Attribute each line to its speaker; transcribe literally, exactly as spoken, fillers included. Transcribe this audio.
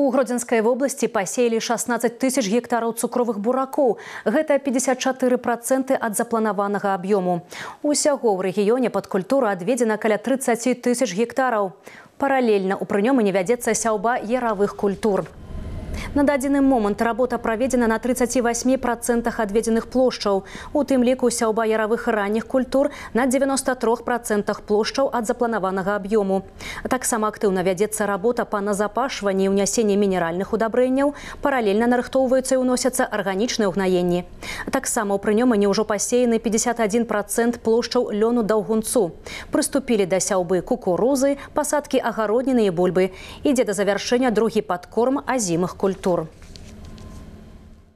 Speaker 1: У Гродзенскай вобласці пасеялі шаснаццаць тысяч гектараў цукровых буракоў. Гэта пятьдесят четыре процента ад запланаванага аб'ёму. Усяго ў рэгіёне пад культуру адведзена каля тридцати тысяч гектараў. Паралельна ў прынёмы вядзецца сяўба яравых культур. На дадзены момант работа праведзена на тридцати восьми процентах адведзеных плошчаў. У тым ліку сяўба яравых ранніх культур на девяноста трёх процентах плошчаў ад запланаванага аб'ёму. Таксама актыўна вядзецца работа па назапашванні і ўнясенні мінеральных удабрэнняў, паралельна нарыхтоўваюцца і ўносяцца арганічныя ўгнаенні. Таксама ў прынёмане ўжо пасеяны пятьдесят один процент плошчаў лёну даўгунцу. Прыступілі да сяўбы кукурузы, пасадкі агародніны і бульбы. Ідзе да завяршэння другі падкорм азімых культур.